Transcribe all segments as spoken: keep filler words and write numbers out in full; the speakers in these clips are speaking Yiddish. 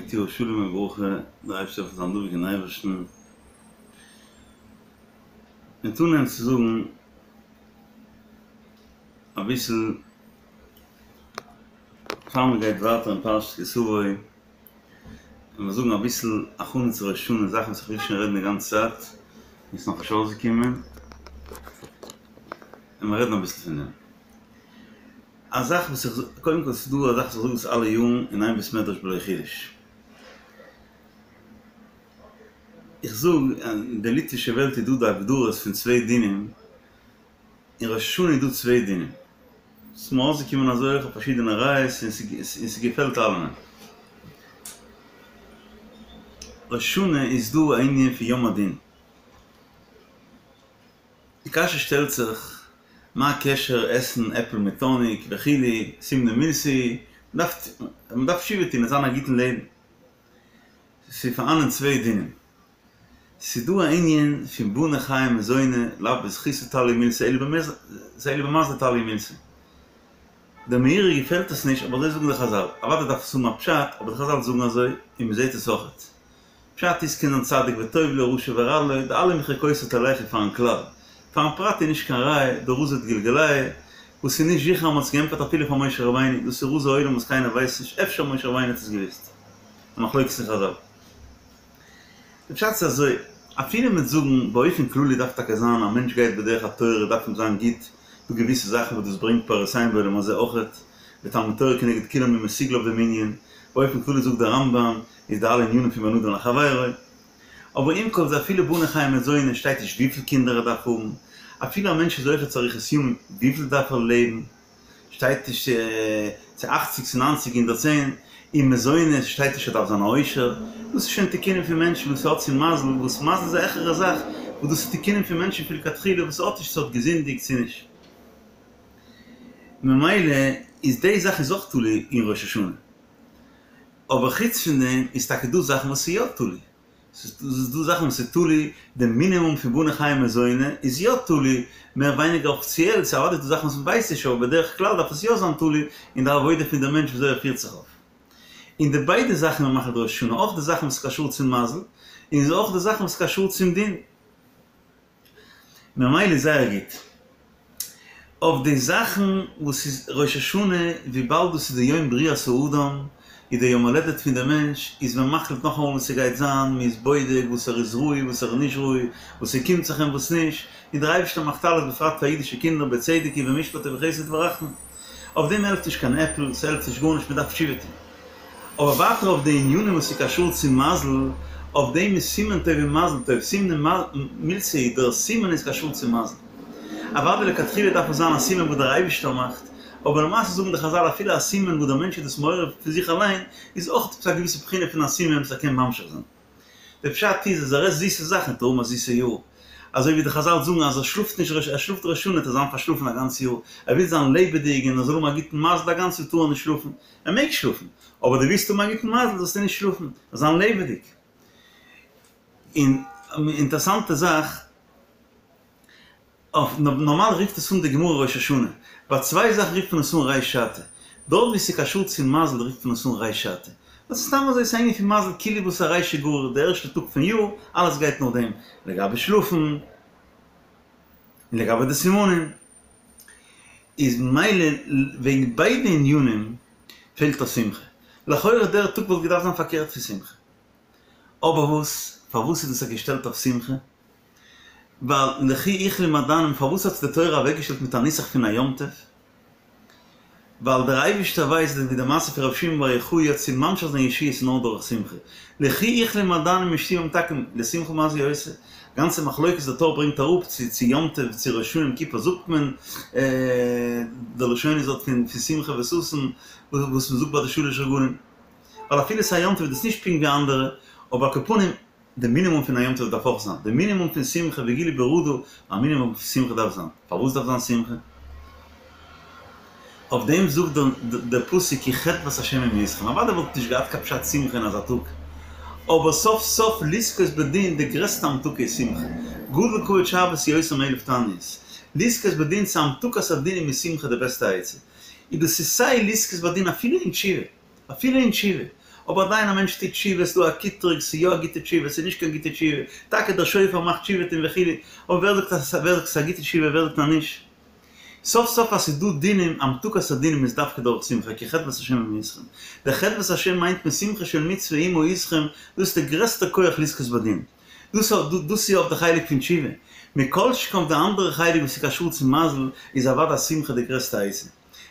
גוט יאר, שלום וברכה, דער אייבערשטער זאל זיין דבוק אין אייבערשטן. מ'וועט אנהייבן צו זאגן אביסל פאר מען גייט ווייטער אין פרשת כי תבוא, וועלן מיר זאגן אביסל הכנה צו ראש השנה, זאכן וואס איך וויל שוין רעדן די גאנצע צייט, און ס'איז נאכנישט אויסגעקומען, און מיר רעדן אביסל פון דעם. א זאך וואס איך זאג, קודם כל ס'איז דא א זאך וואס איך זאג עס אלע יארן אין איין בית מדרש בלא חידוש. איך זאג, אין די ליטווישע וועלט איז דא די הגדרות פון צוויי דינים, אין ראש השנה איז דא צוויי דינים. ס'איז מיר אויסגעקומען אזוי אויך אויף פארשידענע ראיות און ס'געפעלט אלעמען. ראש השנה איז דא א ענין פון יום הדין. די קשיא שטעלט זיך, מה הקשר עסן עפל מיט האניג וכו', סימנא מילתא, מען דארף תשובה טון און זיין א גוטן לעבן. ס'איז פארהאנען צוויי דינים. ס'איז דא א ענין פון בני חיי ומזוני, לאו בזכותא תליא מילתא אלא במזלא תליא מילתא. דער מאירי געפעלט עס נישט, אבער אזוי זאגן די חזל. אוודאי דארף עס האבן א פשט, אבער די חזל זאגן אזוי, און מ'זעט עס אויכעט. פשט איז קען זיין צדיק וטוב לו רשע ורע לו, די אלע מחוקותי תלכו פארן כלל. פארן פרט איז נישט קיין ראיה, דרזי דגלגולייא, וואס איז נישט זיכער אז מ'האט עס געענטפערט אפילו פאר משה רבינו, דאס איז רזי עולם וואס קיינער ווייסט נישט, אפשר משה רבינו האט עס געוויסט. א מחלוקת אין חזל. די פשט איז אזוי, אפילו מ'וועט זאגן באופן כללי דארף טאקע זיין א מענטש גייט בדרך התורה דארף אים זיין גוט, דא געוויסע זאכן וואס דאס ברענגט פירותיהם בעולם הזה אויכעט, ותלמוד תורה כנגד כולם איז מסוגל אויף דעם ענין, באופן כללי זאגט דער רמב"ם איז די אלע ענינים פון בין אדם לחבירו. אבער עם כל זה אפילו בני חיי ומזוני שטייט נישט וויפיל קינדער ער דארף האבן, אפילו א מענטש איז זוכה צו אריכות ימים וויפיל דארף ער לעבן, שטייט נישט צו אכציג צו ניינציג הונדערט צען, און מזונות שטייט נישט ער דארף זיין א עושר, דאס איז שוין תיקונים פון מענטשן וואס האט צו מזל, וואס מזל איז א העכערע זאך, וואס דאס איז תיקונים פון מענטשן פון לכתחילה וואס האט נישט צו האט געזינדיגט צו נישט. ממילא איז די זאך איז אויך תלוי אין ראש השנה. אבער חוץ פון דעם איז טאקע דא זאכן וואס איז יא תלוי. ס'איז דא זאכן וואס איז תלוי, די מינימום פון בני חיי ומזוני איז יא תלוי, מער ווייניגער אפיציעל, ס'איז אוודאי דא זאכן וואס מ'ווייסט נישט אבער בדרך כלל דארף עס יא זיין תלוי אין די עבודה פון די מענטש וויאזוי ער פירט זיך אויף. און די ביידע זאכן איז מען מחליט ראש השנה, אויך די זאכן וואס איז קשור צום מזל, און אויך די זאכן וואס איז קשור צום דין. ממילא איז זייער גוט אויף די זאכן וואס איז ראש השנה, וויבאלד דאס איז די יום בריאת האדם, איז די יום הולדת פון די מענטש, איז מען מחליט נאכאמאל וואס ס'גייט זיין, מען איז בודק וואס ער איז ראוי וואס ער איז נישט ראוי, וואס ס'קומט זיך אים וואס נישט, און דער אייבערשטער מאכט אלעס בפרט פאר אידישע קינדער בצדק ובמשפט ובחסד וברחמים. אויף דעם העלפט נישט קיין עפל, ס'העלפט נישט גארנישט, מען דארף תשובה טון. אבער ווייטער אויף די ענינים וואס איז קשור צו מזל, אויף דעם איז סימן טוב און מזל טוב, סימנא מילתא, דער סימן איז קשור צו מזל. אוודאי לכתחילה דארף עס זיין א סימן וואס דער אייבישטער מאכט, אבער למעשה זאגן די חזל אפילו א סימן וואס דער מענטש איז דאס מעורר פון זיך אליין, איז אויך עפעס א געוויסע בחינה פון א סימן וואס ער קען ממשיך זיין. דער פשט איז אז ער עסט זיסע זאכן וועט ער האבן א זיסע יאר. אזוי ווי די חזל זאגן אז ער שלאפט נישט ראש ער שלאפט ראש השנה וועט ער זיין פארשלאפן א גאנץ יאר, ער וויל זיין לעבעדיג און ער זאל האבן א גוטן מזל א גאנץ יאר טאר ער נישט שלאפן, ער מעג שלאפן, אבער דו ווילסט האבן א גוטן מזל זאלסטו נישט שלאפן, זיין לעבעדיג. און אינטערסאנטע זאך. אויף נארמאל רופט עס אן די גמרא ראש השנה, ביי צוויי זאכן רופט מען עס אן ריש שעתא, דארט ווי ס'איז קשור צו מזל רופט מען עס אן ריש שעתא, דאס איז סתם אזוי ס'איז א ענין פון מזל כאילו וואס א רישא גריר די ערשטע טאג פון יאר, אלעס גייט נאך דעם, לגבי שלאפן, און לגבי די סימנים, איז ממילא וועגן ביידע ענינים פעלט א שמחה, לכאורה דער טאג וואלט געדארפט זיין פארקערט פון שמחה, אבער וואס, פארוואס איז דאס געשטעלט אויף שמחה? ווייל לכי איכלי מעדנים פארוואס האט עס די תורה אוועקגעשטעלט מיט א נוסח פון א יום טוב? ווייל דער אייבערשטער ווייסט ווי די מעשה פון רבי שמעון בר יוחאי אז צו ממשיך זיין ישועות איז נאר דורך שמחה. לכי אכלי מעדנים ושתו ממתקים לשמחה מה זה עושה? גאנצע מחלוקת די טור ברענגט אראפ צו צו יום טוב צו ראש השנה יום כיפור זאגט מען די לשונות דארט פון שמחה וששון וואס מען זאגט ביי די שלש רגלים ווייל אפילו ס'איז א יום טוב איז דאס נישט פונקט ווי אנדערע אבער על כל פנים די מינימום פון א יום טוב דארף אויך זיין, די מינימום פון שמחה וגילו ברעדה, א מינימום פון שמחה דארף זיין, פארוואס דארף זיין שמחה? אויף דעם זאגט דער פסוק כי חדות השם היא מאתכם, אוודאי וואלט נישט געהאט קיין פשט שמחה אין אזא טאג, אבער סוף סוף לזכות בדין די גרעסטע המתקה איז שמחה, גדול כבוד שבת יותר מאלף תעניות, לזכות בדין צו המתקת הדינים איז שמחה די בעסטע עצה, און דאס איז סיי לזכות בדין אפילו אין תשובה. אפילו אין תשובה, אבער עדיין א מענטש טוט תשובה, ס'דא א קיטרוג, ס'איז יא א גוטע תשובה, ס'איז נישט קיין גוטע תשובה, טאקע דער שופר מאכט תשובה טון וכו', אבער ווער זאגט אז ווער זאגט ס'איז א גוטע תשובה, ווער זאגט אז נישט? סוף סוף אז ס'איז דא דינים, המתקת הדינים איז דווקא דורך שמחה, כי חדות השם היא אתכם. דער חדות השם מיינט מען שמחה של מצוה עמו אתכם, דאס איז דער גרעסטער כח לזכות בדין. דאס דאס איז אויף די חלק פון תשובה. מכל שכן אויף די אנדערע חלק וואס איז קשור צו מזל, איז אוודאי שמחה די גרעסטע עצה.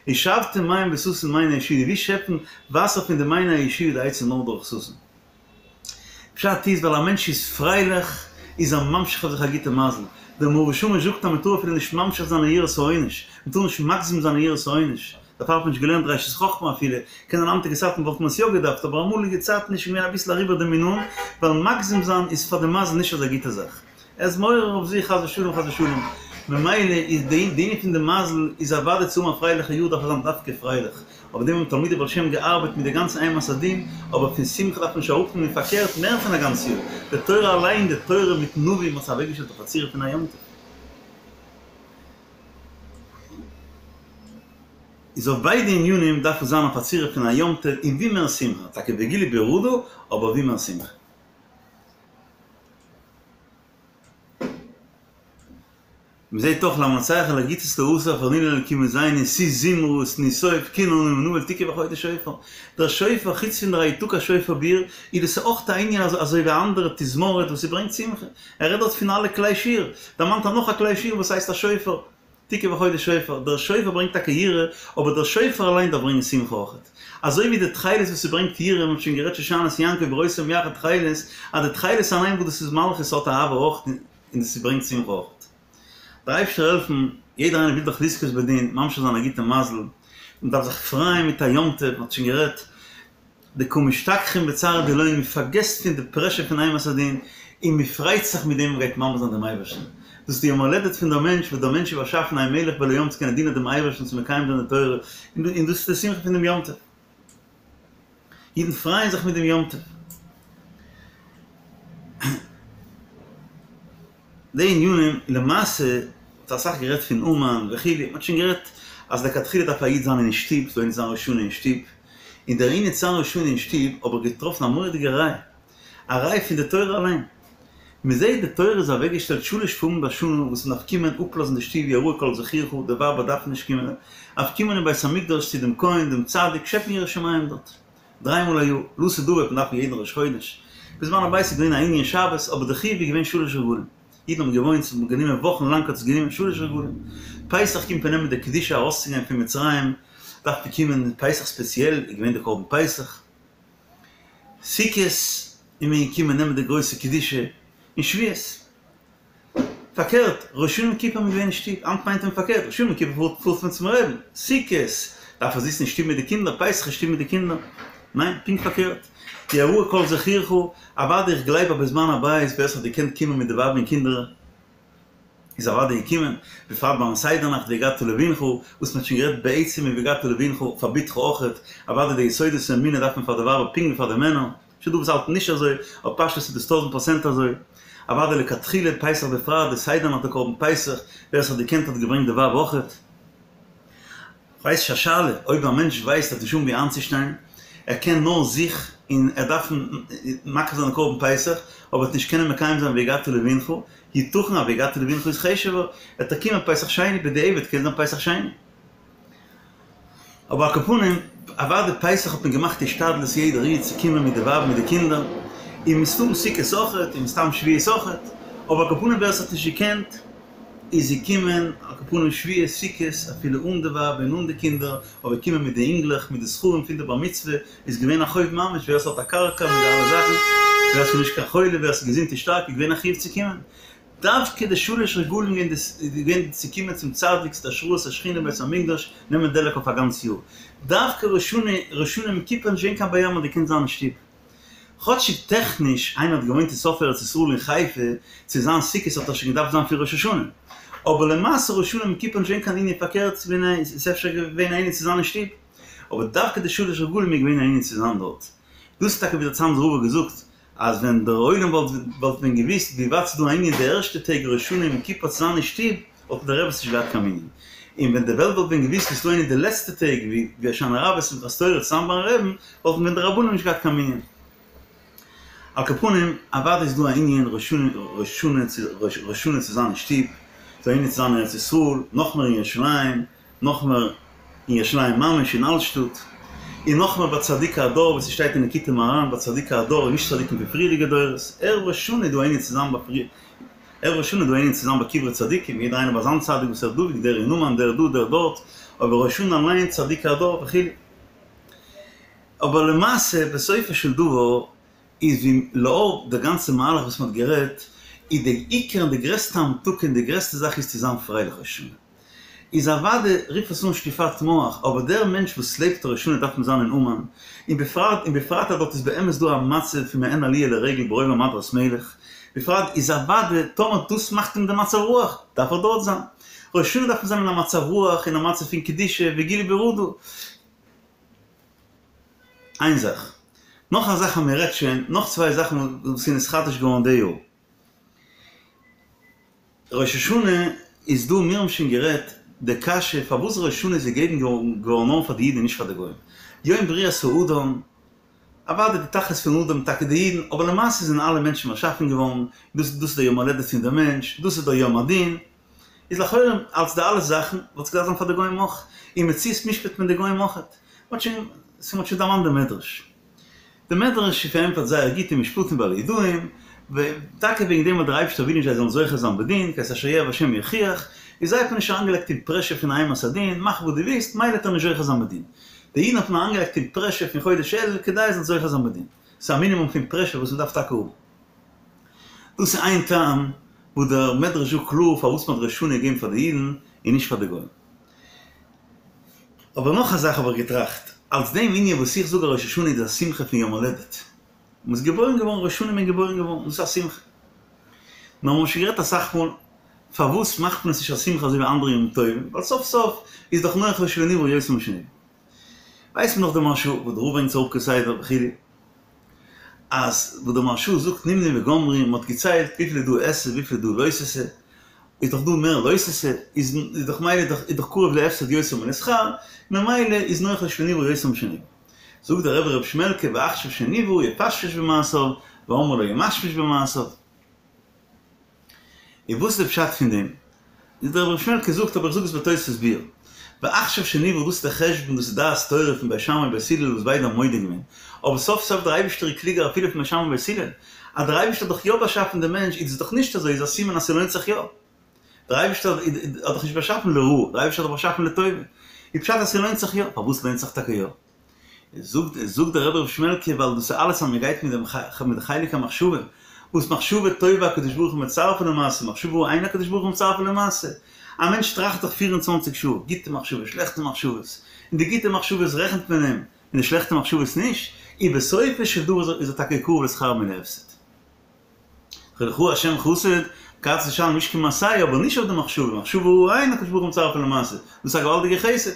ושאבתם מים בששון ממעייני הישועה, ווי שעפן וואסער פון די מעייני הישועה די עצה נאר דורך ששון. פשט איז ווייל א מענטש איז פרייליך איז ער ממשיך אויף זיך א גוטע מזל. דער מאור ושמש זאגט אז מען טאר אפילו נישט ממשיך זיין אין יראת העונש, מען טאר נישט מגזים זיין אין יראת העונש, דערפאר האט מען נישט געלערנט ראשית חכמה אפילו, קען זיין היינטיגע צייטן וואלט מען עס יא געדארפט, אבער אמאליגע צייטן איז שוין געווען אביסל אריבער די מינון, ווייל מגזים זיין איז פאר די מזל נישט אזא גוטע זאך. ער איז מעורר אויף זיך חס ושלום חס ושלום, ממילא איז די די ענין פון די מזל איז אוודאי צו האבן א פרייליכע יאר דארף ער זיין דווקא פרייליך, אויף דעם האבן תלמידי בעל שם געארבעט מיט די גאנצע אימת הדין, אבער פון שמחה דארף מען נישט אראפנעמען פארקערט מער פון א גאנץ יאר, די תורה אליין די תורה מיטן נביא האט זיך אוועקגעשטעלט אויף א צורה פון א יום טוב. איז אויף ביידע ענינים דארף עס זיין אויף א צורה פון א יום טוב און ווי מער שמחה, טאקע וגילו ברעדה, אבער ווי מער שמחה. מ'זעט אויך למנצח על הגיתית לאסף הרנינו לאלקים עוזנו שאו זמרה ותנו תוף כנור נעים ונבל תקעו בחודש שופר. דער שופר חוץ פון דער יתקע שופר בעיר איז דאס אויך א ענין אזוי ווי אנדערע תזמורת וואס ס'ברענגט שמחה. ער רעדט דארט פון אלע כלי שיר, דערמאנט ער נאך א כלי שיר וואס הייסט א שופר. תקעו בחודש שופר, דער שופר ברענגט טאקע יראה, אבער דער שופר אליין דארף ברענגען שמחה אויכעט. אזוי ווי די תכלת וואס ס'ברענגט יראה, מ'האט שוין גערעדט שושנת יעקב בראותם יחד תכלת, אז די תכלת אליין וואס דאס איז מלכות האט אהבה אויכעט און דאס ברענגט שמחה אויכעט. דער אייבשטער העלפן, יעדער איינער וויל דאך לזכות בדין, ממשיך זיין א גוטע מזל, מ'דארף זיך פרייען מיט א יום טוב, מ'האט שוין גערעדט, דקא משתכחין בצערא דילהון, מען פארגעסט פון די פרעשור פון אימת הדין, און מען פרייט זיך מיט דעם מען גייט ממלך זיין דעם אייבערשטן. דאס איז די יום הולדת פון דער מענטש, וואס דער מענטש איז באשאפן א מלך בלא יום צו קענען דינען דעם אייבערשטן צו מקיים זיין די תורה, און דאס איז די שמחה פון דעם יום טוב. אידן פרייען זיך מיט דעם יום טוב. די ענינים, למעשה, מ'האט אסאך גערעדט פון אומאן וכו', מ'האט שוין גערעדט אז לכתחילה דארף א איד זיין אין שטוב, ס'דא ענין זיין ראש השנה אין שטוב, און דער ענין זיין ראש השנה אין שטוב האב איך געטראפן א מורא'דיגע ראיה, א ראיה פון די תורה אליין. מ'זעט די תורה איז אוועקגעשטעלט שלש פעמים בשנה וואס מ'דארף קומען אפלאזן די שטוב יראה כל זכורך, די ווייבער דארפן נישט קומען, דארף קומען אין בית המקדש צו דעם כהן דעם צדיק שעפן יראת שמים דארט. דריי מאל א יאר, לעתיד לבוא וועט מען דארפן יעדן ראש חודש. בזמן הבית איז געווען א ענין שבת, אבער די חיוב איז געווען שלש רגלים. אידן האבן געוואוינט, ס'האט גענומען וואכן לאנג האט עס גענומען שלש רגלים. פסח קומט מען נעמען די קדושה ארויסצוגיין פון מצרים, דארף מען קומען פסח ספעציעל איז געווען די קרבן פסח. סוכות איז מען געקומען נעמען די גרויסע קדושה, און שבועות. פארקערט, ראש השנה יום כיפור איז מען געווען אין שטוב, היינט מיינט מען פארקערט, ראש השנה יום כיפור פארט מען צום רעבן, סוכות דארף ער זיצן אין שטוב מיט די קינדער, פסח אין שטוב מיט די קינדער, ניין, פונקט פארקערט, יראה כל זכורך, אוודאי איך גלייב אז בזמן הבית ווער ס'האט געקענט קומען מיט די ווייב און קינדער איז אוודאי געקומען, בפרט ביים סדר נאכט והגדת לבנך, וואס מ'האט שוין גערעדט בעצם אין והגדת לבנך פאר בתך אויכעט, אוודאי די יסודות פון אמונה דארף מען פאר די ווייבער פונקט ווי פאר די מענער. ס'איז דא וואס האלטן נישט אזוי, אבער פשטות איז דאס טויזנט פראצענט אזוי. אוודאי לכתחילה פסח בפרט, די סדר נאכט די קרבן פסח, ווער עס האט געקענט האט געברענגט די ווייב אויכעט. כ'ווייס נישט א שאלה, אויב א מענטש ווייסט ער האט נישט אן ווי איינצושטיין, ער קען נאר זיך און ער דארף מקריב זיין די קרבן פסח, אבער וועט נישט קענען מקיים זיין והגדת לבנך, יתכן אז והגדת לבנך איז חשוב'ער, וועט ער קומען פסח שני בדיעבד קען זיין פסח שני. אבער על כל פנים, אוודאי פסח האט מען געמאכט השתדלות יעדער איד צו קומען מיט די ווייב מיט די קינדער, און מסתם סוכות אויכעט, און מסתם שבועות אויכעט, אבער על כל פנים ווער עס האט נישט געקענט איז געקומען, על כל פנים שבועות סוכות אפילו אן די ווייב און אן די קינדער, אבער קומען מיט די אינגלעך מיט די זכרים פון די בר מצוה איז געווען א חוב ממש, ווער עס האט א קרקע מיט די אלע זאכן, ווער עס איז נישט קיין חולה, ווער עס איז געזונט און שטארק איז געווען א חיוב צו קומען. דווקא די שלש רגלים איז געווען צו קומען צום צדיק צו די השראת השכינה בית המקדש נעמען דלק אויף א גאנץ יאר. דווקא ראש השנה ראש השנה יום כיפור נישט געווען קיין בעיה מ'האט געקענט זיין אין שטוב. כאטשיג טעכניש איינער האט געוואוינט אין סוף ארץ ישראל אין חיפה צו זיין סוכות האט ער שוין געדארפט זיין פון ראש השנה. אבער למעשה ראש השנה יום כיפור נישט געווען קיין ענין פארקערט ס'איז אפשר געווען א ענין צו זיין אין שטוב. אבער דווקא די שלש רגלים איז געווען א ענין צו זיין דארט. דאס איז טאקע ווי דער צאנזער רב האט געזאגט אז ווען דער עולם וואלט וואלט ווען געוויסט ווי ווייט ס'איז דא א ענין די ערשטע טעג ראש השנה יום כיפור צו זיין אין שטוב, וואלטן די רעבעס נישט געהאט קיין מנין. און ווען די וועלט וואלט ווען געוואוסט ווי ס'איז דא אין די לעצטע טעג ווי הושענא רבה שמחת תורה צוזאם ביים רעבן, וואלטן ווען די רבנים נישט געהאט קיין מנין. על כל פנים, אוודאי איז דא א ענין ראש השנה צו זיין אין שטוב, ס'איז דא א ענין צו זיין אין ארץ ישראל, נאכמער אין ירושלים, נאכמער אין ירושלים ממש אין אלטשטאט, און נאכמער ביי צדיקי הדור ווי ס'שטייט אין ליקוטי מוהר"ן ביי צדיקי הדור און נישט צדיקים פון פריערדיגע דורות, ערב ראש השנה איז דא א ענין צו זיין ביי ערב ראש השנה איז דא א ענין צו זיין ביי קברי צדיקים, יעדער איינער ביי זיין צדיק וואס ער איז דבוק, דער אין אומאן, דער דא, דער דארט, אבער ראש השנה אליין צדיקי הדור וכו'. אבער למעשה בסופו של דבר איז ווי לאור די גאנצע מהלך וואס מ'האט גערעדט, איז די עיקר און די גרעסטע המתקה און די גרעסטע זאך איז צו זיין פרייליך ראש השנה. איז אוודאי רוף עס אן שטיפת מוח, אבער דער מענטש וואס לעבט ראש השנה דארף מען זיין אין אומאן, און בפרט און בפרט אז דארט איז באמת דא א מצב פון מעין עליה לרגל ברוב עם הדרת מלך, בפרט איז אוודאי טאמער דאס מאכט אים די מצב רוח, דארף ער דארט זיין. ראש השנה דארף מען זיין אין א מצב רוח, אין א מצב פון קדושה וגילוי ברעדה. איין זאך. נאך א זאך אז מען רעדט שוין, נאך צוויי זאכן וואס איז נתחדש געווארן די יאר. ראש השנה איז דא, מיר האבן שוין גערעדט די קשיא פארוואס ראש השנה איז געגעבן געווארן נאר פאר די אידן און נישט פאר די גוים. יום בריאת האדם, אוודאי די תכלית פון אדם טאקע די אידן, אבער למעשה זענען אלע מענטשן באשאפן געווארן, דאס דאס איז דער יום הולדת פון דער מענטש, דאס איז דער יום הדין, איז לכאורה אלס די אלע זאכן וואלט עס געדארפט זיין פאר די גוים אויך, אין מציאות משפט מען די גוים אויך, מ'האט שוין ס'מ'האט שוין דערמאנט די מדרש. די מדרש איז פארענטפערט זייער גוט אין משפטים ביי לידעים, טאקע וועגן דעם ווייל דער אייבערשטער וויל נישט זיי זאלן זוכה זיין בדין, כי את אשר יאהב השם יוכיח, איז זיי האט מען נישט אריינגעלייגט אין פרעשור פון אימת הדין, מאך וואס דו ווילסט, מילא וועט ער נישט זוכה זיין בדין. די אידן האט מען אריינגעלייגט אין פרעשור פון חודש אלול כדי זיי זאלן זוכה זיין בדין. ס'איז א מינימום פון פרעשור וואס מ'דארף טאקע האבן. דאס איז איין טעם וואס דער מדרש זאגט קלאר פארוואס מ'האט ראש השנה געגעבן פאר די אידן און נישט פאר די גוים. אבער נאך א זאך האב איך געטראכט, אלס דעם ענין וואס איך זאג אז ראש השנה איז א שמחה פון יום הולדת, מ'איז געבוירן געווארן ראש השנה איז מען געבוירן געווארן, דאס איז א שמחה. נאר מ'האט שוין גערעדט אסאך מאל, פארוואס מאכט מען עס נישט א שמחה אזוי ווי אנדערע ימים טובים, ווייל סוף סוף איז דאך נוח לו שלא נברא יותר משנברא. ווייסט מען דאך די מהרש"א וואס דער רב ברענגט עס אראפ כסדר וכו', אז וואס דער מהרש"א זאגט נמנו וגמרו, מען האט געציילט וויפיל איז דא עשה וויפיל איז דא לא תעשה, איז דאך דא מער לא תעשה, איז דאך מילא איז דאך קרוב להפסד יותר מלשכר, ממילא איז נוח לו שלא נברא יותר משנברא. זאגט דער רבי ר' שמעלקע ועכשיו שנברא יפשפש במעשיו ואמרי לה ימשמש במעשיו. און וואס איז די פשט פון דעם? איז דער רבי ר' שמעלקע זאגט, אבער איך זאג עס בתוספות ביאור, ועכשיו שנברא דאס איז דער חשבון, דאס איז דעת תורה פון בית שמאי און בית הלל וואס ביידע האבן מודה געווען, אבער סוף סוף דער אייבערשטער איז קלוגער אפילו פון בית שמאי און בית הלל, אז דער אייבערשטער האט דאך יא באשאפן דעם מענטש איז עס דאך נישט אזוי איז א סימן אז ס'לוינט זיך יא. דער אייבערשטער האט דאך נישט באשאפן לרעה, דער אייבערשטער האט דאך באשאפן לטובה, איז פשט אז ס'לוינט זיך יא, פארוואס לוינט זיך טאקע יא? זאגט זאגט דער רבי ר' שמעלקע ווייל דאס איז אלעס אז מען גייט מיט דעם מיט די חלק המחשבה, וואס מחשבה טובה הקדוש ברוך הוא מצרפה למעשה, מחשבה רעה אין הקדוש ברוך הוא מצרפה למעשה, א מענטש טראכט דאך פֿיר און צוואַנציק שעה, גוטע מחשבות שלעכטע מחשבות, און די גוטע מחשבות רעכנט מען אים, און די שלעכטע מחשבות נישט, און בסופו של דבר איז ער טאקע קרוב לשכר מלהפסד. כי לך השם חסד, כי תשלם איש כמעשהו, אבער נישט אויף די מחשבה, מחשבה רעה אין הקדוש ברוך הוא מצרפה למעשה, דאס איז א געוואלדיגע חסד.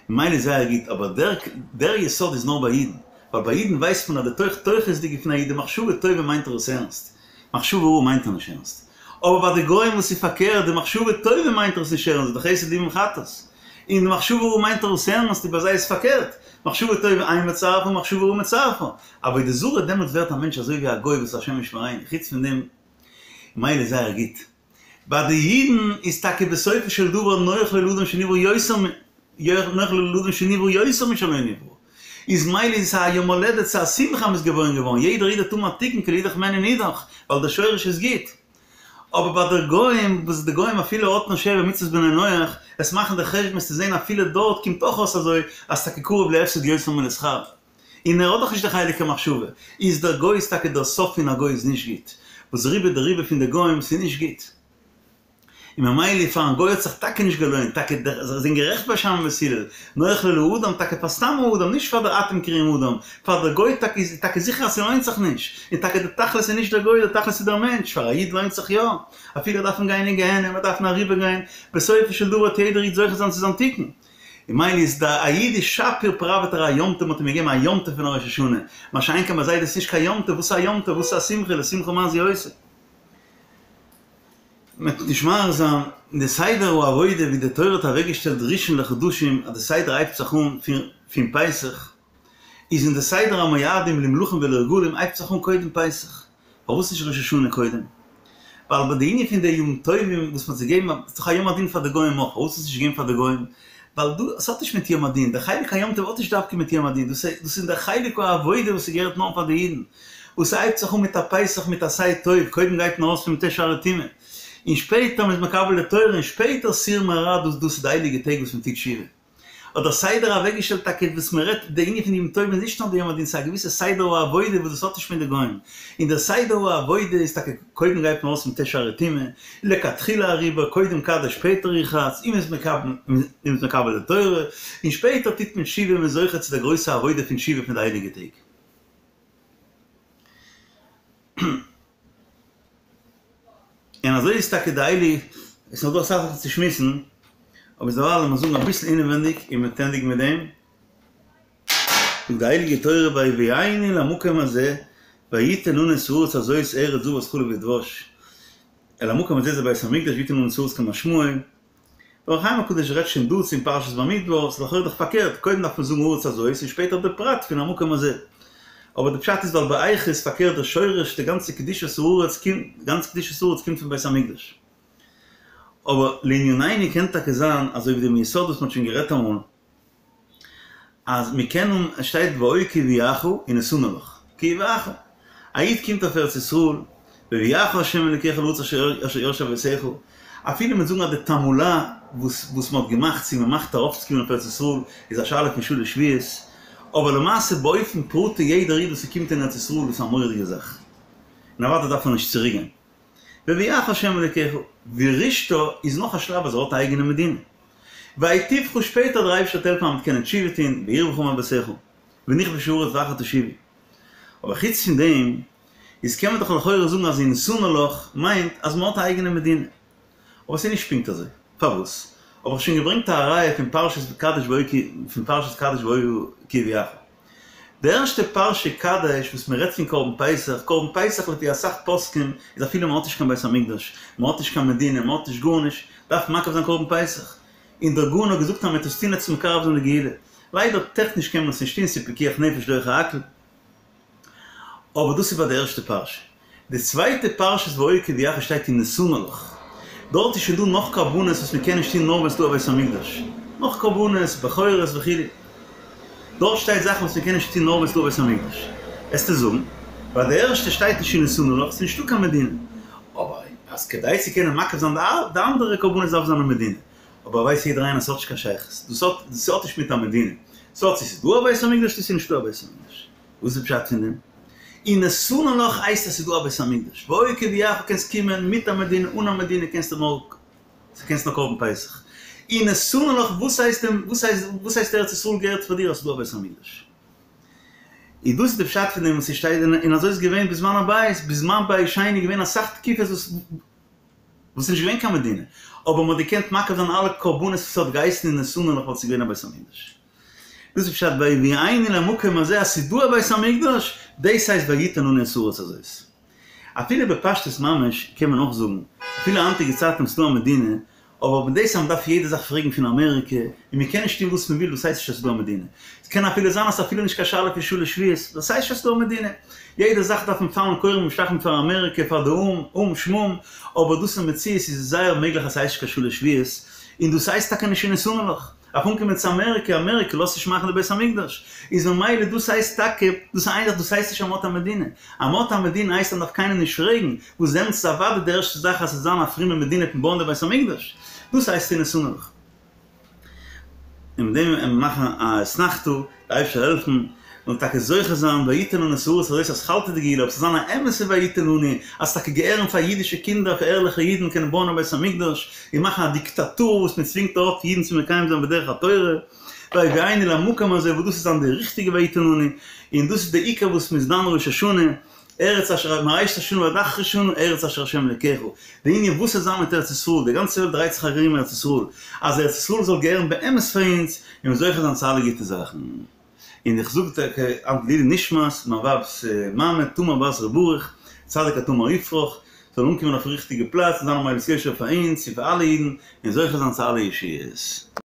ממילא איז זייער גוט, אבער דער דער יסוד איז נאר ביי אידן, ווייל ביי אידן ווייסט מען אז די תוך תוכות'דיגע פון א איד די מחשבה טובה מיינט ער עס ערנסט, מחשבה רעה מיינט ער נישט ערנסט. אבער ביי די גוים וואס איז פארקערט, די מחשבה טובה מיינט ער עס נישט ערנסט, די חסד לאומים חטאת, און די מחשבה רעה מיינט ער עס ערנסט, און ביי זיי איז פארקערט, מחשבה טובה אין מצרפה מחשבה רעה מצרפה. עבודה זרה דעמאלטס ווערט א מענטש אזוי ווי א גוי וואס השם ישמרינו, חוץ פון דעם ממילא איז זייער גוט. ביי די אידן איז טאקע בסופו של דבר נוח לו לאדם שנברא יותר נוח לו לאדם שנברא יותר משלא נברא, איז מילא איז עס א יום הולדת ס'איז א שמחה אז מ'איז געבוירן געווארן, יעדער איד האט האבן א תיקון כי לאידך מעין ונידך, ווייל דער שורש איז גוט. אבער ביי די גוים, וואס די גוים אפילו האט נאר שבע מצוות בני נח, עס מאכן די חשבון עס צו זען אפילו דארט קומט אויך אויס אזוי אז טאקע קרוב להפסד יותר מלשכר. און ער האט דאך נישט די חלק המחשבה, איז דער גוי איז טאקע דער סוף פון א גוי איז נישט גוט, וואס רובא דרובא פון די גוים ס'איז נישט גוט, און ממילא פארן גוי האט זיך טאקע נישט געלוינט, טאקע דער זיי זענען גערעכט בית שמאי ובית הלל, נוח לו לאדם טאקע פאר סתם א אדם נישט פאר דער אתם קרויים אדם, פאר דער גוי טאקע איז טאקע זיכער אז ס'לוינט זיך נישט, און טאקע דער תכלית איז נישט דער גוי דער תכלית איז דער מענטש, פאר א איד לוינט זיך יא, אפילו ער דארף גיין אין גיהנום ער דארף אריבער גיין, בסופו של דבר וועט יעדער איד זוכה זיין צו זיין תיקון. און מילא איז די א איד איז שפיר פראוועט ער א יום טוב מ'האט אים געגעבן א יום טוב פון א ראש השנה, מה שאין כן ביי זיי איז דאס נישט קיין יום טוב, וואס איז א יום טוב, וואס איז א שמחה, לשמחה מה זו עושה. מ'וועט נישט מאריך זיין אין די סדר העבודה ווי די תורה האט אוועקגעשטעלט ראשון לחדשים אז די סדר הייבט זיך אן פון פסח, איז אין די סדר המועדים למלכים ולרגלים הייבט זיך אן קודם פסח, פארוואס נישט ראש השנה קודם? ווייל ביי די ענין פון די ימים טובים וואס מ'האט זיי געגעבן, איז דאך א יום הדין פאר די גוים אויך, פארוואס איז עס נישט געגעבן פאר די גוים? ווייל דא, עס האט נישט מיט יום הדין, דער חלק היום טוב האט נישט דווקא מיט יום הדין, דאס איז דער חלק העבודה וואס ס'געהערט נאר פאר די אידן, וואס ס'הייבט זיך אן מיט א פסח מיט עשה טוב, קודם גייט מען ארויס פון מ"ט שערי טומאה, און שפעטער מ'איז מקבל די תורה, און שפעטער סור מרע, דאס דאס איז די הייליגע טעג וואס מ'טוט תשובה. האט דער סדר אוועקגעשטעלט טאקע וואס מען רעדט די ענין פון ימים טובים איז נישט נאר די יום הדין ס'איז א געוויסע סדר העבודה וואס דאס האט נישט מיט די גוים און דער סדר העבודה איז טאקע קודם גייט מען ארויס מ"ט שערי טומאה לכתחילה אריבער קודם קדש שפעטער ורחץ און מ'איז מקבל מ'איז מקבל די תורה און שפעטער טוט מען תשובה און מ'איז זוכה צו די גרויסע עבודה פון תשובה פון די הייליגע טעג. און אזוי איז טאקע די הייליגע, עס איז נאך דא אסאך זאכן צו שמועסן, אבער דערווייל לאמיר זאגן אביסל אינעווענדיג און מ'וועט ענדיגן מיט דעם, זאגט די הייליגע תורה ויביאנו אל המקום הזה ויתן לנו את הארץ הזאת ארץ זבת חלב ודבש, אל המקום הזה זה בית המקדש ויתן לנו את הארץ כמשמעו, דער אור החיים הקדוש רעדט שוין דא צו אין פרשת במדבר, ס'איז לכאורה דאך פארקערט, קודם דארף מען זאגן הארץ הזאת און שפעטער די פרט פון המקום הזה. אבער די פשט איז ווייל באיכות איז פארקערט די שורש די גאנצע קדושת הארץ קומט די גאנצע קדושת הארץ קומט פון בית המקדש. אבער לענינינו קען טאקע זיין אזוי ווי דעם יסוד וואס מ'האט שוין גערעדט אמאל, אז מ'קען און עס שטייט והיה כי יביאך ונתנה לך, כי יביאך, א איד קומט אויף ארץ ישראל, והביאך ה' אלוקיך אל הארץ אשר ירשו אבותיך, אפילו מ'וועט זאגן אז די תעמולה וואס וואס מ'האט געמאכט צו מ'מאכט ארויפצוקומען אויף ארץ ישראל איז א שאלה פון שלש שבועות, אבער למעשה באופן פרטי יעדער איד וואס ס'קומט אין ארץ ישראל איז א מורא'דיגע זאך, און אוודאי דארף מען נישט צוריקגיין. והביאך ה' אלוקיך, וירשתה איז נאך א שלב אז ער האט א אייגענע מדינה. והיטיבך שפעטער דער אייבערשטער וועט העלפן אז מ'וועט קענען תשובה טון, והרבך מאבותיך, ונכבשה הארץ ואחר תשובו. אבער חוץ פון דעם, איז קען מען דאך לכאורה זאגן אז ונתנה לך מיינט אז מ'האט א אייגענע מדינה. אבער ס'איז נישט פונקט אזוי. פארוואס? האב איך שוין געברענגט א ראיה פון פרשת קדש והיה כי פון פרשת קדש והיה כי יביאך. די ערשטע פרשה קדש וואס מען רעדט פון קרבן פסח, קרבן פסח לפי אסאך פוסקים איז אפילו מען האט נישט קיין בית המקדש, מען האט נישט קיין מדינה, מען האט נישט גארנישט, דארף מען מקריב זיין קרבן פסח. און דער גאון האט געזאגט אז מען וועט עס טון צו מקרב זיין די גאולה. ליידער טעכניש קען מען עס נישט טון, ס'איז פיקוח נפש דוחה הכל. אבער דאס איז ביי די ערשטע פרשה. די צווייטע פרשת והיה כי יביאך שטייט ונתנה לך. דארט איז שוין דא נאך קרבנות וואס מען קען נישט טון נאר ווען ס'איז דא א בית המקדש. נאך קרבנות, בכורות וכו'. דארט שטייט זאכן וואס מען קען נישט טון נאר ווען ס'איז דא א בית המקדש. וועסטו זאגן, ביי די ערשטע שטייט נישט ונתנה לך, ס'איז נישטא קיין מדינה. אבער אז כדי צו קענען מקריב זיין די אנדערע קרבנות דארף זיין א מדינה. אבער ווייסט יעדער איינער ס'האט נישט קיין שייכות. דאס האט דאס האט נישט מיט א מדינה. ס'האט צו ס'איז דא א בית המקדש צו ס'איז נישטא א בית המקדש. וואס איז פשט פון דעם? ונתנה לך הייסט אז ס'איז דא א בית המקדש. והיה כי יביאך קענסט קומען מיט א מדינה אן א מדינה קענסטו נאר קענסט נאר קרבן פסח. ונתנה לך וואס הייסט דעם וואס הייסט וואס הייסט ארץ ישראל געהערט פאר דיר אז ס'איז דא א בית המקדש. איז דאס איז די פשט פון דעם וואס ס'שטייט און אזוי איז געווען בזמן הבית בזמן בית שני איז געווען אסאך תקופות וואס וואס איז נישט געווען קיין מדינה אבער מ'האט געקענט מקריב זיין אלע קרבנות וואס האט געהייסן ונתנה לך ווייל ס'איז געווען א בית המקדש. דאס איז פשט ויביאנו אל המקום הזה אז ס'איז דא א בית המקדש, דאס הייסט ויתן לנו את הארץ הזאת. אפילו בפשטות ממש קען מען אויך זאגן, אפילו היינטיגע צייטן וואס ס'איז דא א מדינה, אבער מיט דאס אז מ'דארף יעדע זאך פרעגן פון אמעריקע, און מ'קען נישט טון וואס מ'וויל, דאס הייסט נישט אז ס'איז דא א מדינה. ס'קען אפילו זיין אז ס'איז אפילו נישט קיין שאלה פון שלש שבועות, דאס הייסט נישט אז ס'איז דא א מדינה. יעדע זאך דארף מען פאלן כורעים ומשתחווים פאר אמעריקע, פאר די או"ם, או"ם שמום, אבער דאס אין מציאות איז זייער מעגליך אז ס'הייסט נישט קיין שלש שבועות, און דאס הייסט טאקע נישט ונתנה לך. דארף אנקומען צו אמעריקע, אמעריקע לאזט נישט מאכן די בית המקדש, איז ממילא דאס הייסט טאקע, דאס איז איין זאך, דאס הייסט נישט אז מ'האט א מדינה, אז מ'האט א מדינה הייסט אז מ'דארף קיינעם נישט פרעגן, וואס דעמאלטס איז אוודאי די ערשטע זאך אז ס'זאל זיין א פרומע מדינה פון בויען די בית המקדש, דאס הייסט ונתנה לך. און מיט דעם וועלן מיר מאכן א אתנחתא, דער אייבערשטער זאל העלפן מ'זאל טאקע זוכה זיין ויתן לנו את הארץ הזאת אתחלתא דגאולה, אבער ס'זאל זיין א אמת'ע ויתן לנו, אז ס'טאקע געהערן פאר אידישע קינדער, פאר ערליכע אידן קענען בויען א בית המקדש, און מאכן א דיקטאטור וואס מען צווינגט ארויף אידן צו מקיים זיין בדרך התורה, ויביאנו אל המקום הזה וואס דאס איז זיין די ריכטיגע ויתן לנו, און דאס איז די עיקר וואס מ'איז דן ראש השנה, ארץ אשר מראשית השנה ועד אחרית שנה ארץ אשר ה' אלקיך, די ענין וואס וועט זיין מיט ארץ ישראל, די גאנצע וועלט דרייט זיך ארום ארץ ישראל, אז ארץ ישראל זאל געהערן באמת פאר אונז, און מיר זוכה זיין צו אלע גוטע זאכן. און איך זאג טאקע היינט לעילוי נשמת מיין ווייב'ס מאמע תמר בת ר' ברוך, צדיק כתמר יפרח, זאל אנקומען אויפן ריכטיגע פלאץ און זיין א מליץ יושר פאר אונז און פאר אלע אידן און זוכה זיין צו אלע ישועות.